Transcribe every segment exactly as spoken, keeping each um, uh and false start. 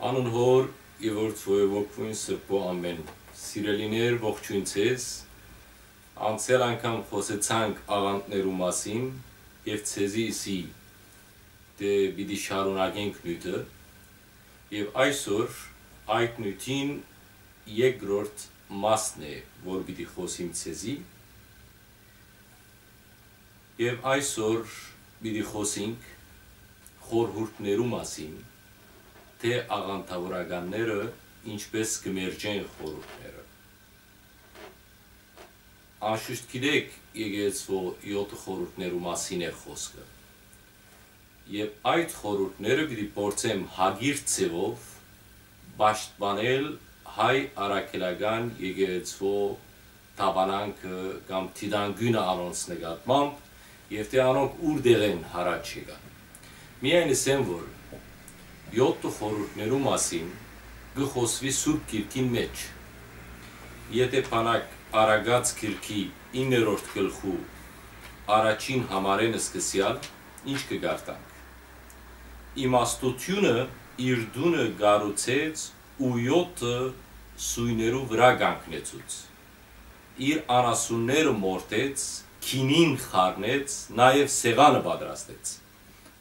Անուն Հօր եւ Որդու եւ Հոգւոյն Սրբոյ ամէն։ Սիրելիներ, ողջոյն ձեզ։ Անցեալ անգամ խօսեցանք աղանդներու մասին եւ ձեզի ըսի թէ պիտի շարունակենք նիւթը, եւ այսօր այդ նիւթին երկրորդ մասն է, որ պիտի խօսիմ ձեզի, եւ այսօր պիտի խօսինք խորհուրդներու մասին, թէ աղանդաւորականները ինչպէս կը մերժեն խորհուրդները։ Անշուշտ գիտէք, եկեղեցւոյ յոթ խորհուրդներու մասին է խօսքը։ Եւ այդ խորհուրդները պիտի փորձեմ հակիրճ ձեւով պաշտպանել հայ առաքելական եկեղեցւոյ դաւանանքը կամ դիտանկիւնը անոնց նկատմամբ, եւ թէ անոնք ուրտեղ են յառաջ եկան։ Միայն ըսեմ, որ յոթ խորհուրդներու մասին կը խօսուի Սուրբ Գիրքին մէջ։ Եթէ բանակ Առակաց գիրքի իններորդ գլխու առաջին համարէն սկսեալ, ինչ կը կարդանք։ Իմաստութիւնը իր տունը կառուցեց ու յոթը սոյներու վրայ կանգնեցուց։ Իր անասունները մորթեց, գինին խառնեց, նաեւ սեղանը պատրաստեց։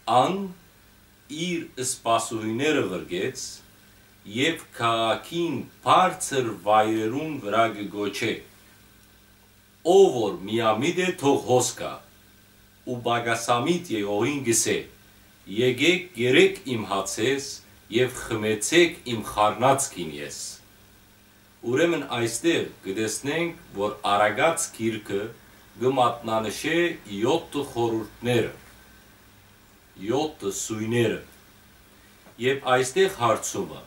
Ան իր սպասուհիները ղրկեց եւ քաղաքին բարձր վայրերուն վրայ կը կոչէ. «Ով որ միամիտ է, թող հոս գայ»։ Ու պակասամիտ եղողին կ'ըսէ. «Եկէք, կերէք իմ հացէս եւ խմեցէք իմ խառնած գինիէս»։ Ուրեմն այստեղ կը տեսնենք, որ Առակաց գիրքը կը մատնանշէ յոթը խորհուրդները, յոթը սոյները։ Եւ այստեղ հարցումը.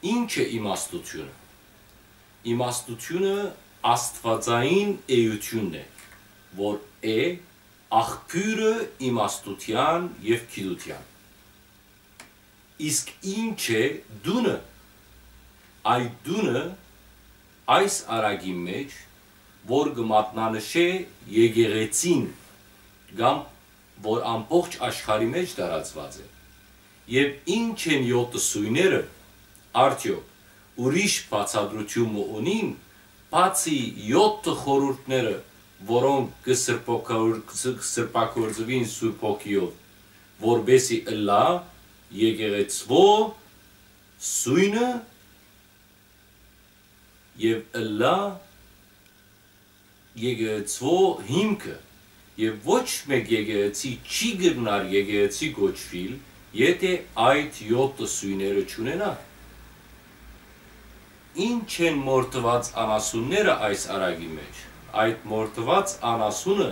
ի՞նչ է իմաստութիւնը։ Իմաստութիւնը աստուածային էութիւնն է, որ է աղբիւրը իմաստութեան եւ գիտութեան։ Իսկ ի՞նչ է տունը։ Այդ տունը այս առակին մէջ, որ կը մատնանշէ եկեղեցին կամ որ ամբողջ աշխարհի մէջ տարածուած է։ Եւ ի՞նչ են յոթը սոյները, արդեօք ուրիշ բացատրութիւն մը ունի՞ն, բացի յոթը խորհուրդները, որոնք կը սրբակաոր-, սրբագործուին Սուրբ Հոգիով, որպէսի ըլլայ եկեղեցւոյ սոյնը եւ ըլլայ եկեղեցւոյ հիմքը, եւ ոչ մէկ եկեղեցի չի կրնար եկեղեցի կոչուիլ, եթէ այդ յոթը սոյները չունենայ։ Ի՞նչ են մորթուած անասունները այս առակի մէջ։ Այդ մորթուած անասունը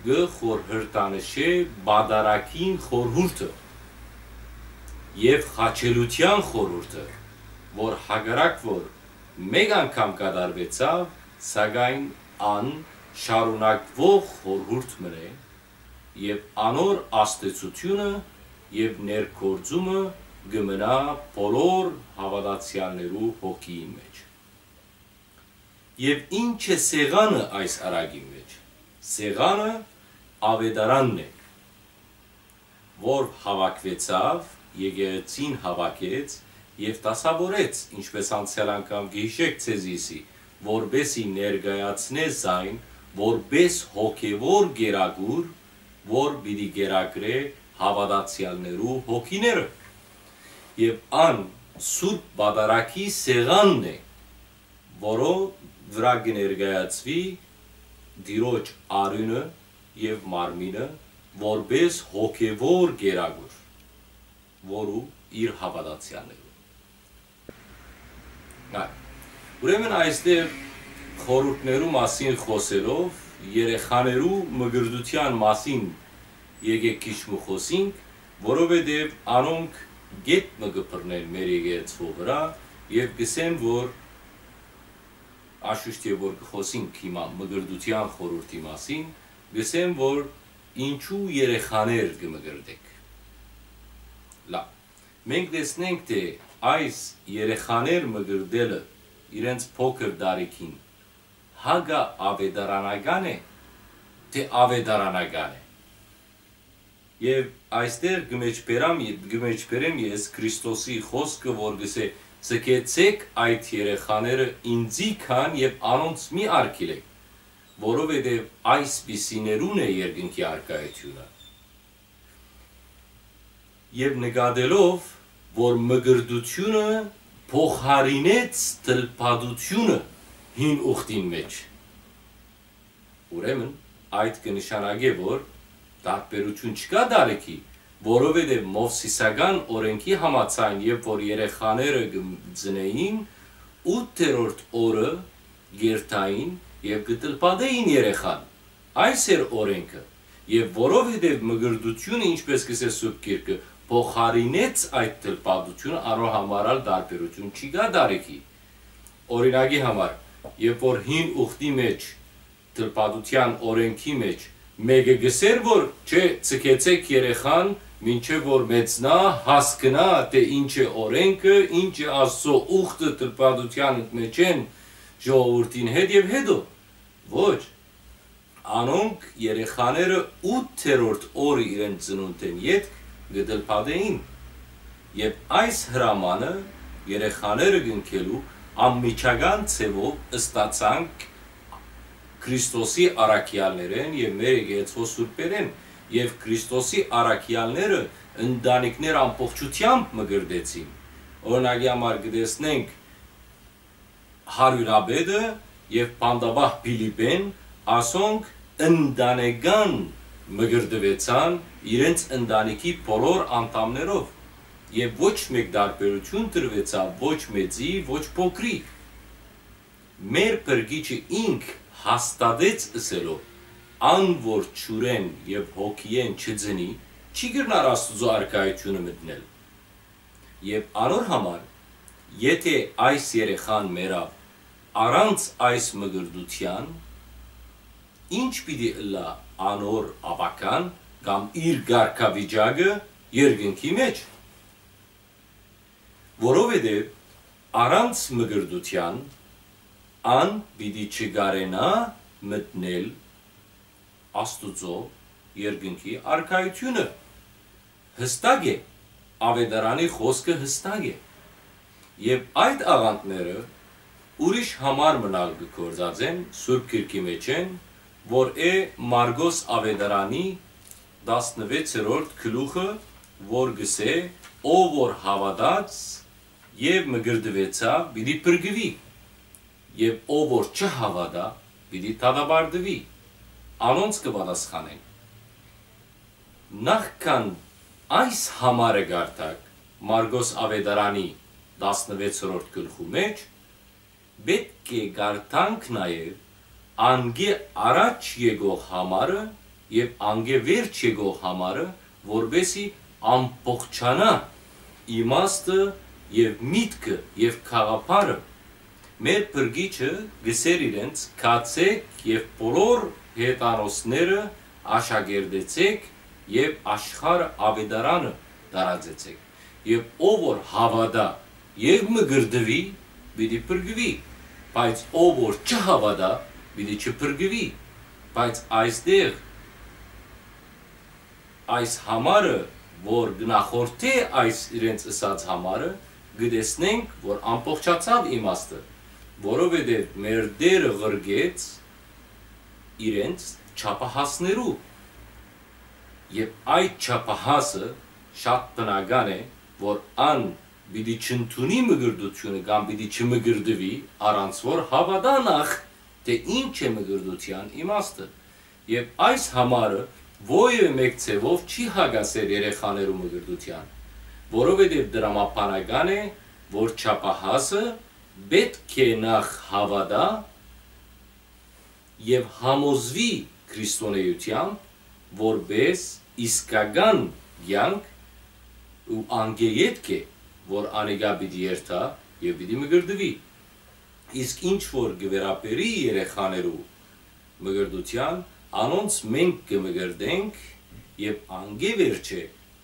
կը խորհրդանշէ պատարագին խորհուրդը եւ խաչելութեան խորհուրդը, որ հակառակ որ մէկ անգամ կատարուեցաւ, սակայն ան շարունակուող խորհուրդ մըն է, եւ անոր ազդեցութիւնը եւ ներգործումը կը մնայ բոլոր հաւատացեալներու հոգիին մէջ։ Եւ ի՞նչ է սեղանը այս առակին մէջ։ Սեղանը աւետարանն է, որ հաւաքուեցաւ, եկեղեցին հաւաքեց եւ դասաւորեց, ինչպէս անցեալ անգամ կը յիշէք ձեզի, որպէսի ներկայացնէ զայն որպէս հոգեւոր կերակուր, որ պիտի կերակրէ հաւատացեալներու հոգիները։ Եւ ան Սուրբ Պատարագի սեղանն է, որո վրայ կը ներկայացուի Տիրոջ արիւնը եւ մարմինը որպէս հոգեւոր կերակուր, որու իր հաւատացեալներու։ Այ, ուրեմն այստեղ խորհուրդներու մասին խօսելով, երեխաներու մկրտութեան մասին եկեք քիչ մը խօսինք, որովհետեւ անոնք գետ մը կը բռնեն մեր եկեղեցւոյ վրայ, եւ կ'ըսեմ, որ անշուշտ եւ որ կը խօսինք հիմա մկրտութեան խորհուրդի մասին, կ'ըսեմ, որ ինչու երեխաներ կը մկրտեք։ Լավ, մենք տեսնենք, թէ այս երեխաներ մկրտելը իրենց փոքր տարիքին հակաավետարանական է, թէ ավետարանական է։ Եւ այստեղ կը մեջբերամ, կը մեջբերեմ ես Քրիստոսի խօսքը, որ կ'ըսէ. «Ձգեցէք այդ երեխաները ինծի քան եւ անոնց մի արգիլէք, որովհետեւ այսպիսիներուն է երկնքի առկայութիւնը»։ Եւ նկատելով, որ մկրտութիւնը փոխարինեց թլփատութիւնը հին ուխտին մէջ, ուրեմն այդ կը նշանակէ, որ տարբերութիւն չկայ տարիքի, որովհետեւ Մովսիսական օրէնքի համաձայն, երբ որ երեխաները կը ծնէին, ութերորդ օրը կ'երթային եւ կը թլփատէին երեխան։ Այս էր օրէնքը։ Եւ որովհետեւ մկրտութիւնը, ինչպէս կ'ըսէ Սուրբ Գիրքը, փոխարինեց այդ թլփատութիւնը, անոր համար ալ տարբերութիւն չի գայ տարիքի։ Օրինակի համար, երբ որ հին ուխտի մէջ, թլփատութեան օրէնքի մէջ, մէկը կ'ըսէր, որ չէ, ձգեցէք երեխան, մինչեւ որ մեծնայ, հասկնայ, թէ ինչ է օրէնքը, ինչ է Աստուծոյ ուխտը թլփատութեան մէջէն ժողովուրդին հետ, եւ հետո։ Ոչ, անոնք երեխաները ութերորդ օրը իրենց ծնունդէն ետք կը թլփատէին։ Եւ այս հրամանը երեխաները կնքելու անմիջական ձեւով ստացանք Քրիստոսի առաքեալներէն եւ մեր եկեղեցւոյ սուրբերէն, եւ Քրիստոսի առաքեալները ընտանիքներ ամբողջութեամբ մկրտեցին։ Օրինակի համար կը տեսնենք, հարիւրապետը եւ բանտապահ Փիլիպէն, ասոնք ընտանեկան մկրտուեցան իրենց ընտանիքի բոլոր անդամներով, եւ ոչ մէկ տարբերութիւն տրուեցաւ ոչ մեծի, ոչ փոքրի։ Մեր Փրկիչը ինք հաստատեց ըսելով. «Ան որ ջուրէն եւ հոգիէն չծնի, չի կրնար Աստուծոյ առկայութիւնը մտնել»։ Եւ անոր համար, եթէ այս երեխան մեռաւ առանց այս մկրտութեան, ի՞նչ պիտի ըլլայ անոր ապագան կամ իր կարգավիճակը երկնքի մէջ։ Որովհետեւ առանց մկրտութեան ան պիտի չկարենայ մտնել Աստուծոյ երկնքի առկայութիւնը։ Յստակ է, Աւետարանի խօսքը յստակ է։ Եւ այդ աղանդները ուրիշ համար մըն ալ կը գործածեն Սուրբ Գիրքի մէջէն, որ է Մարկոս Աւետարանի տասնվեցերորդ գլուխը, որ կ'ըսէ. «Ով որ հաւատաց եւ մկրտուեցաւ, պիտի փրկուի, եւ ով որ չհաւատայ, պիտի դատապարտուի»։ Անոնց կը պատասխանեն. նախքան այս համարը կարդաք Մարկոս Աւետարանի տասնվեցերորդ գլխու մէջ, պէտք է կարդանք նաեւ անկէ առաջ եկող համարը եւ անկէ վերջ եկող համարը, որպէսզի ամբողջանայ իմաստը եւ միտքը եւ գաղափարը։ Մեր Փրկիչը կ'ըսէր իրենց. «Գացէք եւ բոլոր հեթանոսները աշակերտեցէք եւ աշխարհը աւետարանը տարածեցէք»։ Եւ ով որ հաւատայ եւ մկրտուի, պիտի փրկուի, բայց ով որ չհաւատայ, պիտի չփրկուի։ Բայց այստեղ այս համարը, որ կը նախորդէ այս իրենց ըսած համարը, կը տեսնենք, որ ամբողջացաւ իմաստը, որովհետեւ մեր Տէրը ղրկեց իրենց չափահասներու։ Եւ այդ չափահասը շատ բնական է, որ ան պիտի չընդունի մկրտութիւնը կամ պիտի չմկրտուի, առանց որ հաւատայ նախ, թէ ինչ է մկրտութեան իմաստը։ Եւ այս համարը որեւէ մէկ ձեւով չի հակասեր երեխաներու մկրտութեան, որովհետեւ տրամաբանական է, որ չափահասը պէտք է նախ հաւատայ եւ համոզուի քրիստոնէութեամբ որպէս իսկական կեանք, ու անկէ ետք է, որ անիկա պիտի երթայ եւ պիտի մկրտուի։ Իսկ ինչ որ կը վերաբերի երեխաներու մկրտութեան, անոնց մենք կը մկրտենք, եւ անկէ վերջ է,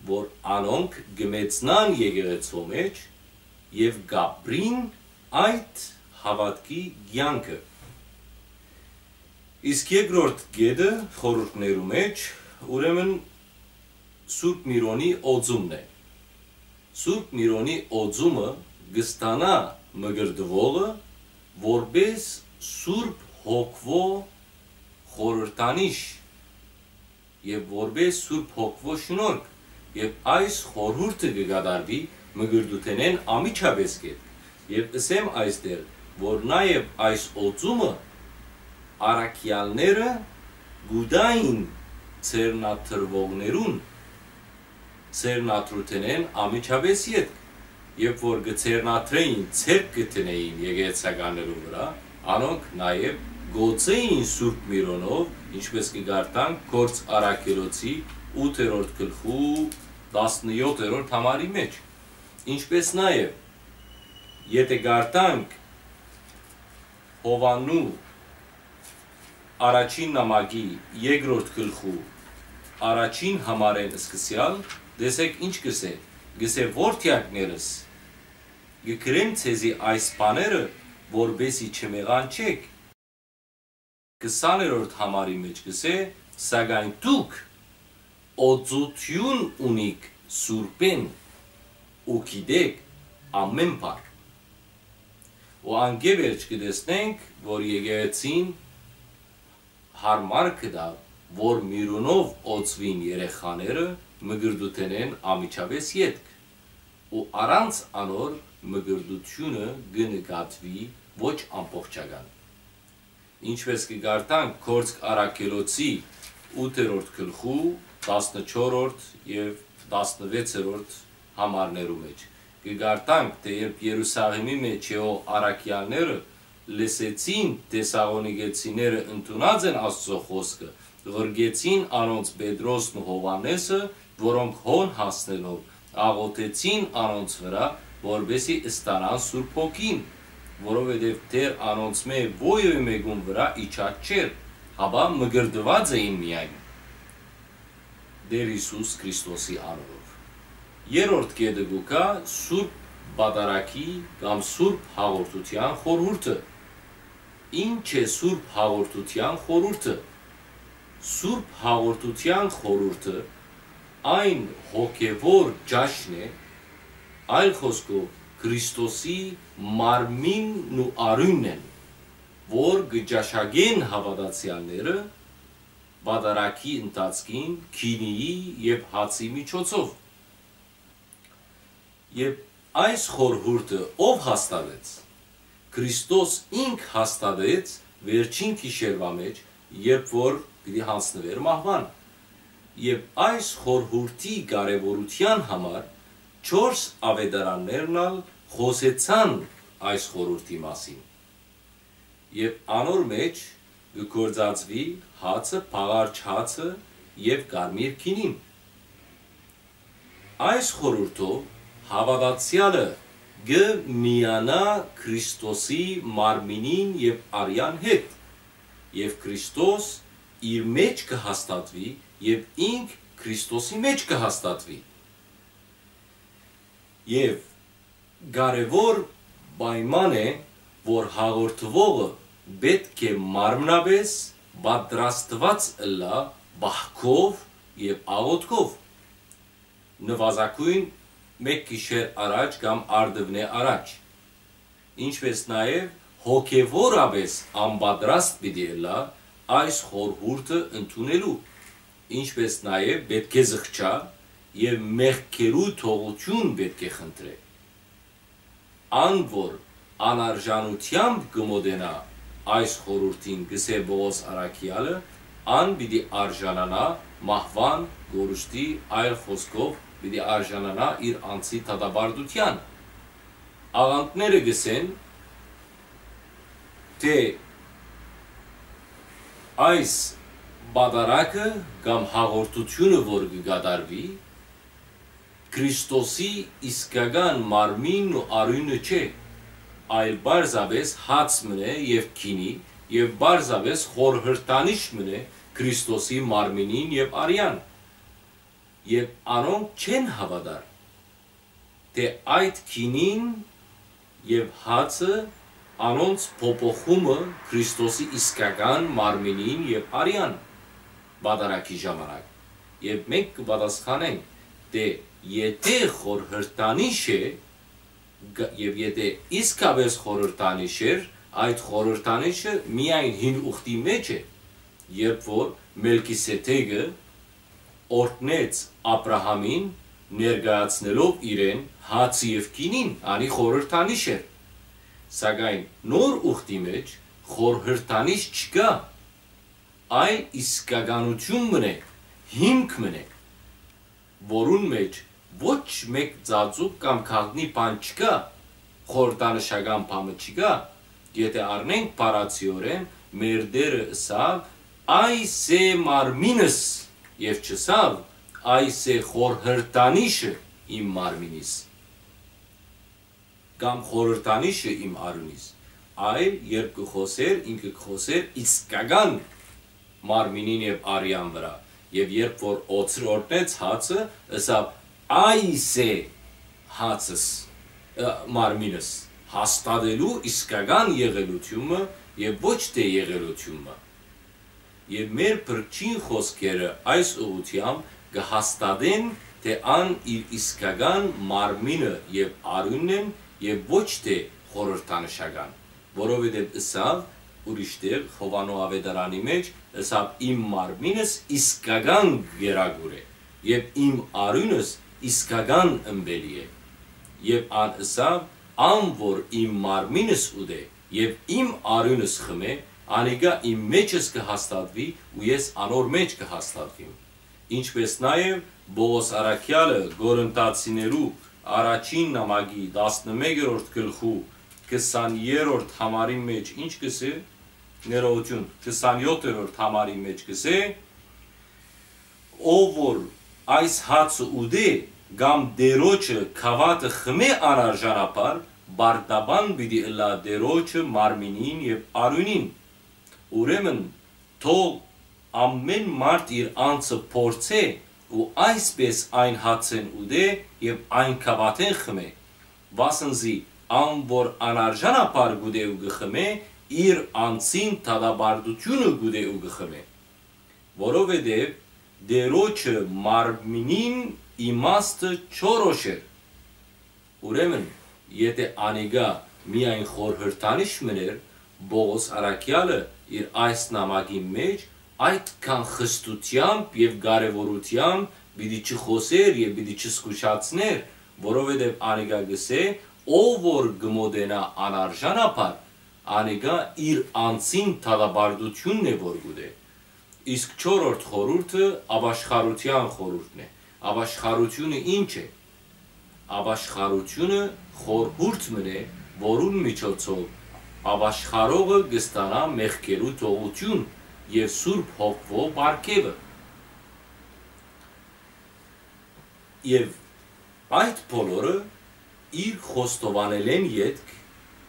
որ անոնք կը մեծնան եկեղեցւոյ մէջ եւ կ'ապրին այդ հաւատքի կեանքը։ Իսկ երկրորդ կետը խորհուրդներու մէջ, ուրեմն, Սուրբ Միրոնի օծումն է։ Սուրբ Միրոնի օծումը կը ստանայ մկրտուողը որպէս Սուրբ Հոգւոյ խորհրդանիշ եւ որպէս Սուրբ Հոգւոյ շնորհք, եւ այս խորհուրդը կը կատարուի մկրտութենէն անմիջապէս ետք։ Եւ ըսեմ այստեղ, որ նաեւ այս օծումը առաքեալները կու տային ձեռնադրուողներուն ձեռնադրութենէն անմիջապէս ետք, երբ որ կը ձեռնադրէին, ձեռք կը դնէին եկեղեցականներուն վրայ, անոնք նաեւ կ'օծէին Սուրբ Միրոնով, ինչպէս կը կարդանք Գործք Առաքելոցի ութերորդ գլխու տասնեթերորդ համարի մէջ, ինչպէս նաեւ, եթէ կարդանք Յովհաննու առաջին նամակի երկրորդ գլխու առաջին համարէն սկսեալ, տեսէք ինչ կ'ըսէ, կ'ըսէ. «Որդեակներս, կը գրեմ ձեզի այս բաները, որպէսզի չմեղանչէք»։ Քսաներորդ համարի մէջ կ'ըսէ. «Սակայն դուք օծութիւն ունիք Սուրբէն ու գիտէք ամէն բան»։ Ու անկէ վերջ կը տեսնենք, որ եկեղեցին յարմար կը տայ, որ Միրոնով օծուին երեխաները մկրտութենէն անմիջապէս ետք, ու առանց անոր մկրտութիւնը կը նկատուի ոչ ամբողջական։ Ինչպէս կը կարդանք Գործք Առաքելոցի ութերորդ գլխու տասնեթերորդ եւ տասնեթերորդ համարներու մէջ, կը կարդանք, թէ երբ Երուսաղէմի մէջ եղող առաքեալները լսեցին թէ Թեսաղոնիկեցիները ընդունած են Աստուծոյ խօսքը, ղրկեցին անոնց Պետրոսն ու Յովհաննէսը, որոնք հոն հասնելով աղօթեցին անոնց վրայ, որպէսզի ստանան Սուրբ Հոգին, որովհետեւ դեռ անոնցմէ որեւէ մէկուն վրայ իջած չէր, հապա մկրտուած էին միայն Տէր Յիսուս Քրիստոսի անունով։ Երրորդ կետը կու գայ Սուրբ Պատարագի կամ Սուրբ Հաղորդութեան խորհուրդը։ Ի՞նչ է Սուրբ Հաղորդութեան խորհուրդը։ Սուրբ Հաղորդութեան խորհուրդը այն հոգեւոր ճաշն է, այլ խօսքով, Քրիստոսի մարմինն ու արիւնն են, որ կը ճաշակեն հաւատացեալները պատարագի ընթացքին գինիի եւ հացի միջոցով։ Եւ այս խորհուրդը ո՞վ հաստատեց։ Քրիստոս ինք հաստատեց վերջին գիշերուայ մէջ, երբ որ պիտի յանձնուէր մահուան։ Եւ այս խորհուրդի կարեւորութեան համար չորս աւետարաններն ալ խօսեցան այս խորհուրդի մասին։ Եւ անոր մէջ կը գործածուի հացը, բաղարջ հացը եւ կարմիր գինին։ Այս խորհուրդով հաւատացեալը կը միանայ Քրիստոսի մարմինին եւ արեան հետ, եւ Քրիստոս իր մէջ կը հաստատուի, եւ ինք Քրիստոսի մէջ կը հաստատուի։ Եւ կարեւոր պայման է, որ հաղորդուողը պէտք է մարմնապէս պատրաստուած ըլլայ պահքով եւ աղօթքով, նուազագոյն մէկ գիշեր առաջ կամ առտուն առաջ, ինչպէս նաեւ հոգեւորապէս անպատրաստ պիտի ըլլայ այս խորհուրդը ընդունելու, ինչպէս նաեւ պէտք է զղջայ եւ մեղքերու թողութիւն պէտք է խնդրէ։ Ան որ անարժանութեամբ կը մօտենայ այս խորհուրդին, կ'ըսէ Պողոս առաքեալը, ան պիտի արժանանայ մահուան կորուստի, այլ խօսքով, պիտի արժանանայ իր անձի դատապարտութեան։ Աղանդները կ'ըսեն, թէ այս պատարագը կամ հաղորդութիւնը, որ կը կատարուի, Քրիստոսի իսկական մարմինն ու արիւնը չէ, այլ պարզապէս հաց մըն է եւ գինի, եւ պարզապէս խորհրդանիշ մըն է Քրիստոսի մարմինին եւ արեան։ Եւ անոնք չեն հաւատար, թէ այդ գինին եւ հացը անոնց փոփոխումը Քրիստոսի իսկական մարմինին եւ արեան պատարագի ժամանակ, Եւ մենք կը պատասխանենք, թէ եթէ խորհրդանիշ է, գ-, եւ եթէ իսկապէս խորհրդանիշ էր, այդ խորհրդանիշը միայն հին ուխտի մէջ է, երբ որ Մելքիսեդեկը օրհնեց Աբրահամին, ներկայացնելով իրեն հացը եւ գինին, անի խորհրդանիշ էր։ Սակայն նոր ուխտի մէջ խորհրդանիշ չկայ, այլ իսկականութիւն մըն է, հիմք մըն է, որուն մէջ ոչ մէկ ծածուկ կամ գաղտնի բան չկայ, խորհրդանշական բան մը չկայ, եթէ առնենք բառացիօրէն, մեր Տէրը ըսաւ. «Այս է մարմինս», եւ չըսաւ. «Այս է խորհրդանիշը իմ մարմինիս», կամ խորհրդանիշը իմ արիւնիս, այլ երբ կը խօսէր, ինքը կը խօսէր իսկական մարմինին եւ արեան վրայ։ Եւ երբ որ օծր օրհնեց հացը, ըսաւ. «Այս է հացս, ը, մարմինս», հաստատելու իսկական եղելութիւնը եւ ոչ թէ եղելութիւնը։ Եւ մեր փրկչին խօսքերը այս ուղղութեամբ կը հաստատեն, թէ ան իր իսկական մարմինը եւ արիւնն են եւ ոչ թէ խորհրդանշական, որովհետեւ ըսաւ ուրիշ տեղ Յովհաննէ աւետարանի մէջ, ըսաւ. «Իմ մարմինս իսկական գերագուր է եւ իմ արիւնս իսկական ըմպելի է»։ Եւ ան ըսաւ. «Ան որ իմ մարմինս ուտէ եւ իմ արիւնս խմէ, անիկա իմ մէջս կը հաստատուի ու ես անոր մէջ կը հաստատուիմ»։ Ինչպէս նաեւ Պողոս առաքեալը Կորինթացիներու առաջին նամակի տասնմեկերորդ գլխու քսաներորդ համարին մէջ ինչ կ'ըսէ, ներողութիւն, քսանեթերորդ համարին մէջ կ'ըսէ. «Ով որ այս հացը ուտէ կամ Տէրոջը գաւաթը խմէ անարժանաբար, պարտաբան պիտի ըլլայ Տէրոջը մարմինին եւ արիւնին։ Ուրեմն թող ամէն մարդ իր անձը փորձէ ու այսպէս այն հացէն ուտէ եւ այն գաւաթէն խմէ, վասն զի ան որ անարժանաբար կ'ուտէ ու կը խմէ, իր անձին դատապարտութիւնը կ'ուտէ ու կը խմէ, որովհետեւ Տէրոջը մարմինին իմաստը չորոշ էր»։ Ուրեմն, եթէ անիկա միայն խորհրդանիշ մըն էր, Պողոս առաքեալը իր այս նամակին մէջ այդքան խստութեամբ եւ կարեւորութեամբ պիտի չխօսէր եւ պիտի չզգուշացնէր, որովհետեւ անիկա կ'ըսէ. «Ով որ կը մօտենայ անարժանաբար, անիկա իր անձին դատապարտութիւնն է որ կ'ուտէ»։ Իսկ չորրորդ խորհուրդը ապաշխարութեան խորհուրդն է։ Ապաշխարութիւնը ի՞նչ է։ Ապաշխարութիւնը խորհուրդ մըն է, որուն միջոցով ապաշխարողը կը ստանայ մեղքերու թողութիւն եւ Սուրբ Հոգիի պարգեւը։ Եւ այդ բոլորը իր խոստովանելէն ետք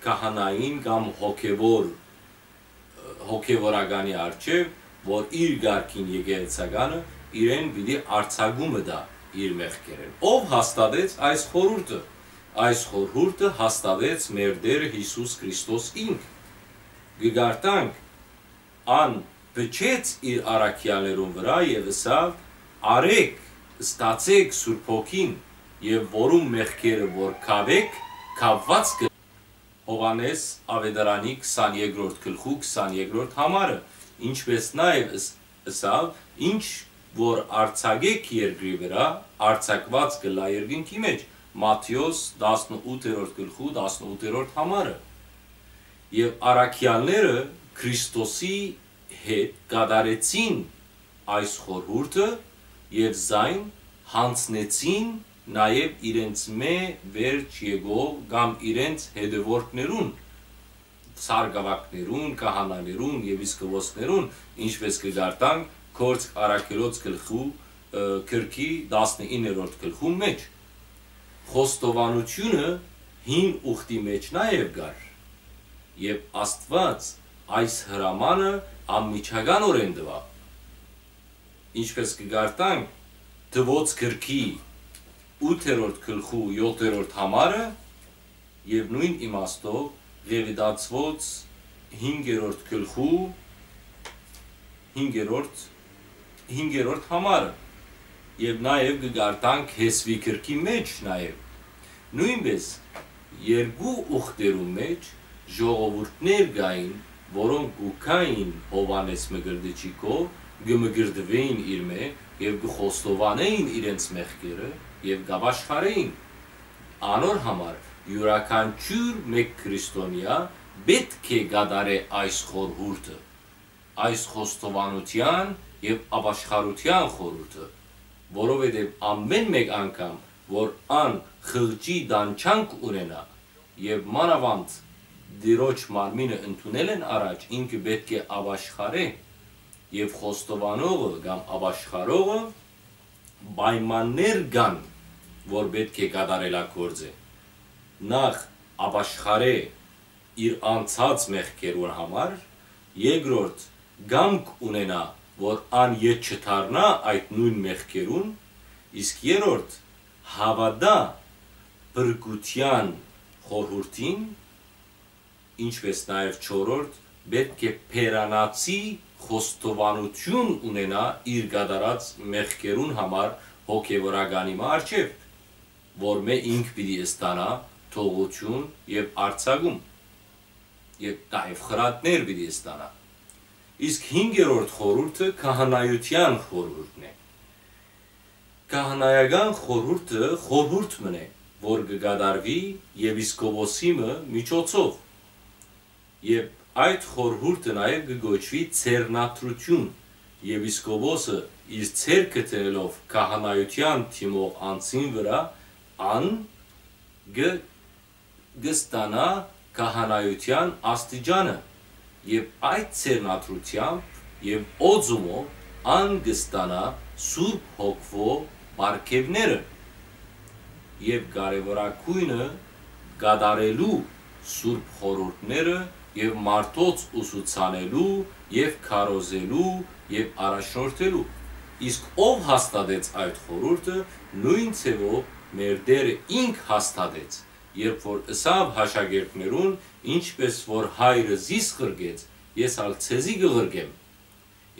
քահանային կամ հոգեւոր, հոգեւորականի առջեւ, որ իր կարգին եկեղեցականը իրեն պիտի արձակումը տայ իր մեղքերէն։ Ո՞վ հաստատեց այս խորհուրդը։ Այս խորհուրդը հաստատեց մեր Տէր Յիսուս Քրիստոս ինք։ Կը կարդանք. «Ան փչեց իր առաքեալներուն վրայ եւ ըսաւ. "Առէք, ստացէք Սուրբ Հոգին, եւ որուն մեղքերը որ կաւէք, կաւուած կը"»։ Յովհաննէս աւետարանի քսաներկրորդ գլխու քսաներկրորդ համարը, ինչպէս նաեւ ըս-, ըսաւ. "Ինչ որ արձակէք երկրի վրայ, արձակուած կ'ըլլայ երկնքի մէջ"։ Մատթէոս տասնութերորդ գլխու տասնութերորդ համարը։ Եւ առաքեալները Քրիստոսի հետ կատարեցին այս խորհուրդը եւ զայն յանձնեցին նաեւ իրենց մէ վերջ եկող կամ իրենց հետեւորդներուն, սարկաւագներուն, քահանաներուն եւ իսկովոսներուն, ինչպէս կը կարդանք Գործք առաքելոց գլխու, ը, գրքի տասնիններորդ գլխուն մէջ։ Խոստովանութիւնը հին ուխտի մէջ նաեւ կար, եւ Աստուած այս հրամանը անմիջականօրէն տուաւ։ Ինչպէս կը կարդանք Թուոց գրքի ութերորդ գլխու յոթերորդ համարը, եւ նոյն իմաստով Ղեւիտացիոց հինգերորդ գլխու հինգերորդ, հինգերորդ համարը։ Եւ նաեւ կը կարդանք Հեսուի գրքի մէջ նաեւ։ Նոյնպէս երկու ուխտերուն մէջ ժողովուրդներ կային, որոնք կու գային Յովհաննէս Մկրտիչի քով, կը մկրտուէին իրմէ եւ կը խոստովանէին իրենց մեղքերը եւ կ'ապաշխարէին։ Անոր համար իւրաքանչիւր մէկ քրիստոնեայ պէտք է կատարէ այս խորհուրդը, այս խոստովանութեան եւ ապաշխարութեան խորհուրդը, որովհետեւ ամէն մէկ անգամ, որ ան խղճի տանջանք ունենայ եւ մանաւանդ Տիրոջ մարմինը ընդունելէն առաջ ինքը պէտք է ապաշխարէ, եւ խոստովանողը կամ ապաշխարողը պայմաններ կան, որ պէտք է կատարելագործէ։ Նախ, ապաշխարէ իր անցած մեղքերուն համար, երկրորդ, կամք ունենայ, որ ան ետ չդառնայ այդ նոյն մեղքերուն, իսկ երրորդ, հաւատայ փրկութեան խորհուրդին, ինչպէս նաեւ չորրորդ, պէտք է բերանացի խոստովանութիւն ունենայ իր կատարած մեղքերուն համար հոգեւորականի մը առջեւ, որմէ ինք պիտի ստանայ թողութիւն եւ արձակում, եւ նաեւ խրատներ պիտի ստանայ։ Իսկ հինգերորդ խորհուրդը քահանայութեան խորհուրդն է։ Քահանայական խորհուրդը խորհուրդ մըն է, որ կը կատարուի եպիսկոպոսի մը միջոցով, եւ այդ խորհուրդը նաեւ կը կոչուի ձեռնադրութիւն։ Եպիսկոպոսը իր ձեռքը դնելով քահանայութեան դիմող անձին վրայ, ան կը կը ստանայ քահանայութեան աստիճանը, եւ այդ ձեռնադրութեամբ եւ օծումով ան կը ստանայ Սուրբ Հոգւոյ պարգեւները, եւ կարեւորագոյնը՝ կատարելու Սուրբ խորհուրդները եւ մարդոց ուսուցանելու եւ քարոզելու եւ առաջնորդելու։ Իսկ ով հաստատեց այդ խորհուրդը, նոյն ձեւով մեր Տէրը ինք հաստատեց, երբ որ ըսաւ աշակերտներուն. «Ինչպէս որ Հայրը զիս ղրկեց, ես ալ ձեզի կը ղրկեմ»։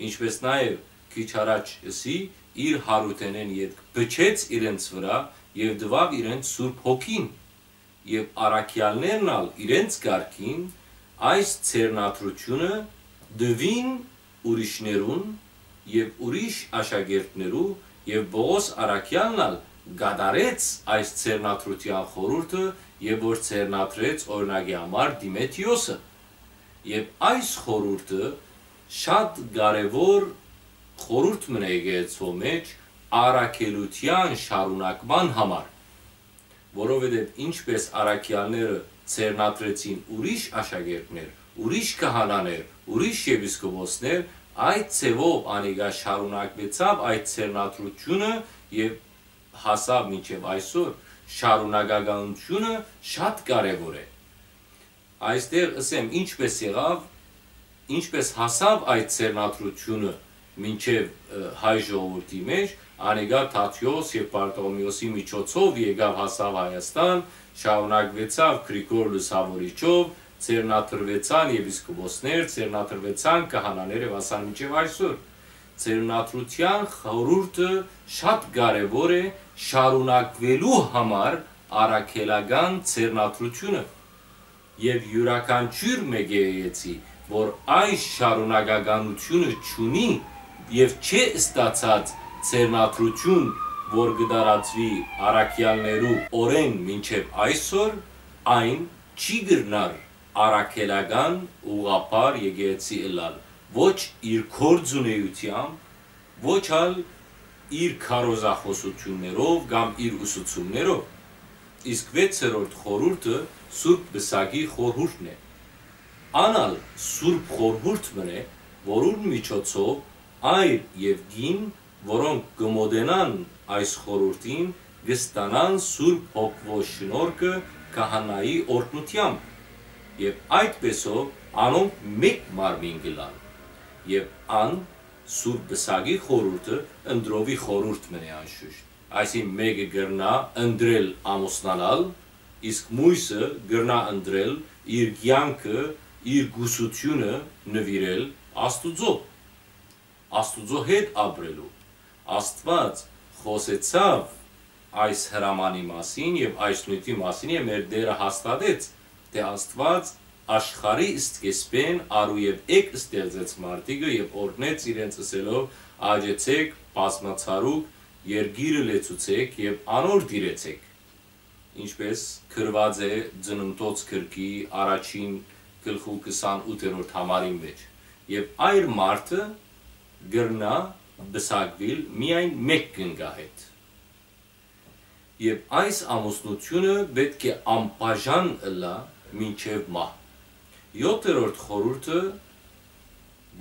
Ինչպէս նաեւ քիչ առաջ ըսի, իր յարութենէն ետք փչեց իրենց վրայ եւ տուաւ իրենց Սուրբ Հոգին, եւ առաքեալներն ալ իրենց կարգին այս ձեռնադրութիւնը տուին ուրիշներուն եւ ուրիշ աշակերտներու, եւ Պողոս առաքեալն ալ կատարեց այս ձեռնադրութեան խորհուրդը, եւ որ ձեռնադրեց, օրինակի համար, Դիմեթրիոսը։ Եւ այս խորհուրդը շատ կարեւոր խորհուրդ մըն է եկեղեցւոյ մէջ առաքելութեան շարունակման համար, որովհետեւ ինչպէս առաքեալները ձեռնադրեցին ուրիշ աշակերտներ, ուրիշ քահանաներ, ուրիշ եպիսկոպոսներ, այդ ձեւով անիկա շարունակուեցաւ այդ ձեռնադրութիւնը եւ հասաւ մինչեւ այսօր։ Շարունակականութիւնը շատ կարեւոր է։ Այստեղ ըսեմ, ինչպէս եղաւ, ինչպէս հասաւ այդ ձեռնադրութիւնը մինչեւ, ը, հայ ժողովուրդի մէջ, անիկա Թադէոս եւ Պարտոլոմէոսի միջոցով եկաւ, հասաւ Հայաստան, շարունակուեցաւ Գրիգոր Լուսաւորիչով, ձեռնադրուեցան եպիսկոպոսներ, ձեռնադրուեցան քահանաներ եւ հասան մինչեւ այսօր։ Ձեռնադրութեան խորհուրդը շատ կարեւոր է շարունակուելու համար առաքելական ձեռնադրութիւնը, եւ իւրաքանչիւր մէկ եկեղեցի, որ այս շարունակականութիւնը չունի եւ չէ ստացած ձեռնադրութիւն, որ կը տարածուի առաքեալներու օրէն մինչեւ այսօր, այն չի կրնար առաքելական ուղղափառ եկեղեցի ըլլալ, ոչ իր գործունէութեամբ, ոչ ալ իր քարոզախօսութիւններով կամ իր ուսուցումներով։ Իսկ վեցերորդ խորհուրդը Սուրբ Պսակի խորհուրդն է։ Ան ալ Սուրբ խորհուրդ մըն է, որուն միջոցով այր եւ կին, որոնք կը մօտենան այս խորհուրդին, կը ստանան Սուրբ Հոգւոյ շնորհքը քահանայի օրհնութեամբ, եւ այդպէսով անոնք մէկ մարմին կ'ըլլան։ Եւ ան Սուրբ Պսակի խորհուրդը ընտրովի խորհուրդ մըն է անշուշտ, այսինքն՝ մէկը կրնայ ընտրել ամուսնանալ, իսկ մոյսը կրնայ ընտրել իր կեանքը, իր կուսութիւնը նուիրել Աստուծոյ, Աստուծոյ հետ ապրելու։ Աստուած Խօսեցաւ այս հրամանի մասին եւ այս նիւթի մասին, եւ մեր Տէրը հաստատեց, թէ Աստուած աշխարհի սկիզբէն արու եւ էգ ստեղծեց մարդիկը եւ օրհնեց իրենց, ըսելով. «Աճեցէք, բազմացարուք, երկիրը լեցուցէք եւ անոր տիրեցէք»։ Ինչպէս գրուած է Ծննդոց գրքի առաջին գլխու քսանութերորդ համարին մէջ։ Եւ այր մարդը կրնայ պսակուիլ միայն մէկ կնկա հետ։ Եւ այս ամուսնութիւնը պէտք է անբաժան ըլլայ մինչեւ մահ։ Եօթերորդ խորհուրդը,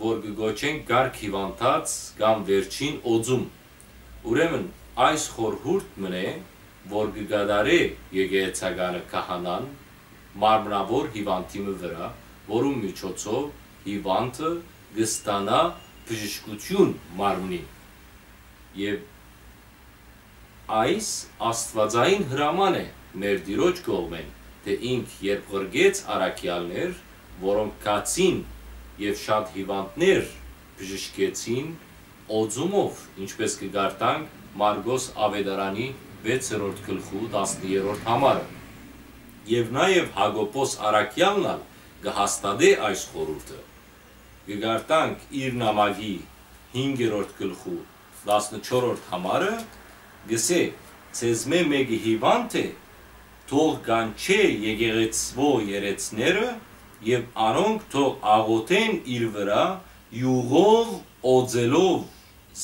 որ կը կոչենք կարգ հիւանդաց կամ վերջին օծում։ Ուրեմն այս խորհուրդ մըն է, որ կը կատարէ եկեղեցականը քահանան մարմնաւոր հիւանդի մը վրայ, որուն միջոցով հիւանդը կը ստանայ բժշկութիւն մարմնին։ Եւ այս աստուածային հրաման է մեր Տիրոջ կողմէն, թէ ինք երբ ղրկեց առաքեալներ, որոնք գացին եւ շատ հիւանդներ բժշկեցին օծումով, ինչպէս կը կարդանք Մարկոս Աւետարանի վեցերորդ գլխու տասներորդ համարը։ Եւ նաեւ Յակոբոս առաքեալն ալ կը հաստատէ այս խորհուրդը։ Կը կարդանք իր նամակի հինգերորդ գլխու տասնչորրորդ համարը, կ'ըսէ. «Ձեզմէ մէկը հիւանդ է, թող կանչէ եկեղեցւոյ երեցները եւ անոնք թող աղօթեն իր վրայ, իւղով օծելով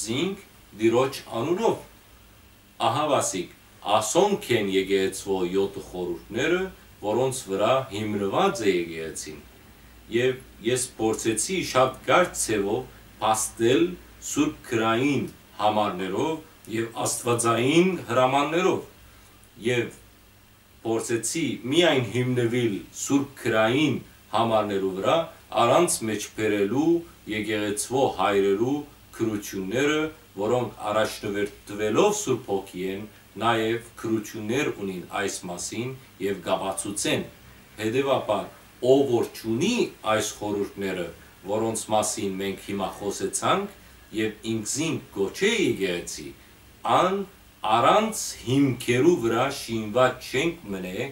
զինք Տիրոջ անունով»։ Ահա, ասիկա, ասոնք են եկեղեցւոյ եօթը խորհուրդները, որոնց վրայ հիմնուած է եկեղեցին։ Եւ ես փորձեցի շատ կարճ ձեւով փաստել սուրբ գրային համարներով եւ աստուածային հրամաններով, եւ փորձեցի միայն հիմնուիլ սուրբ գրային համարներու վրայ, առանց մեջբերելու եկեղեցւոյ հայրերու գրութիւնները, որոնք առաջնորդուելով Սուրբ Հոգիէն, նաեւ գրութիւններ ունին այս մասին եւ կ'ապացուցեն։ Հետեւաբար, ով որ չունի այս խորհուրդները, որոնց մասին մենք հիմա խօսեցանք, եւ ինքզինք կոչէ եկեղեցի, ան առանց հիմքերու վրայ շինուած շենք մըն է,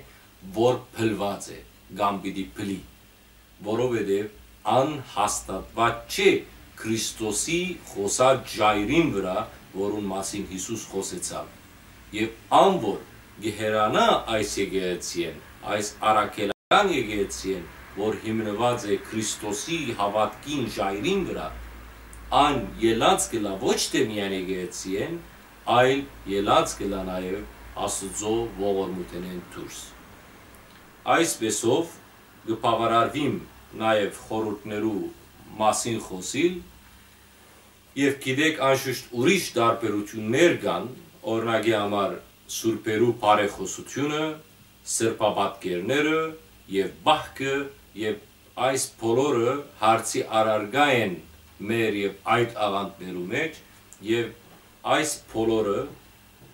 որ փլուած է կամ պիտի փլի, որովհետեւ ան հաստատուած չէ Քրիստոսի խօսած ժայռին վրայ, որուն մասին Յիսուս խօսեցաւ։ Եւ ան որ կը հեռանայ այս եկեղեցիէն, այս առաքելական եկեղեցիէն, որ հիմնուած է Քրիստոսի հաւատքին ժայռին վրայ, ան ելած կ'ըլլայ ոչ թէ միայն եկեղեցիէն, այլ ելած կ'ըլլայ նաեւ Աստուծոյ ողորմութենէն դուրս։ Այսպէսով կը բաւարարուիմ նաեւ խորհուրդներու մասին խօսիլ, եւ գիտէք, անշուշտ ուրիշ տարբերութիւններ կան, օրինակի համար, սուրբերու բարեխօսութիւնը, սրբապատկերները եւ պահքը, եւ այս բոլորը հարցի առարկայ են մեր եւ այդ աղանդներու մէջ, եւ այս բոլորը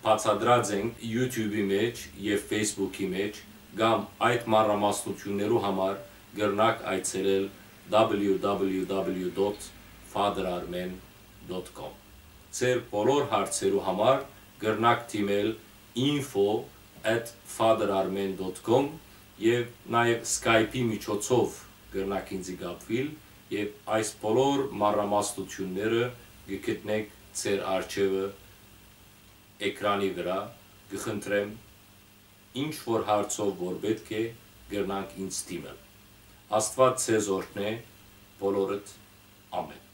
բացատրած ենք YouTube-ի մէջ եւ Facebook-ի մէջ, կամ այդ մանրամասնութիւններու համար կրնաք այցելել www.faderarmen.com։ Ձեր բոլոր հարցերու համար կրնաք դիմել info@faderarmen.com եւ նաեւ Skype-ի միջոցով կրնաք ինձի կապուիլ, եւ այս բոլոր մանրամասնութիւնները կը գտնեք ձեր առջեւը էկրանի վրայ։ Կը խնդրեմ, ինչ որ հարցով որ պէտք է, կրնանք ինձ դիմել։ Աստուած ձեզ օրհնէ, բոլորդ, ամէն։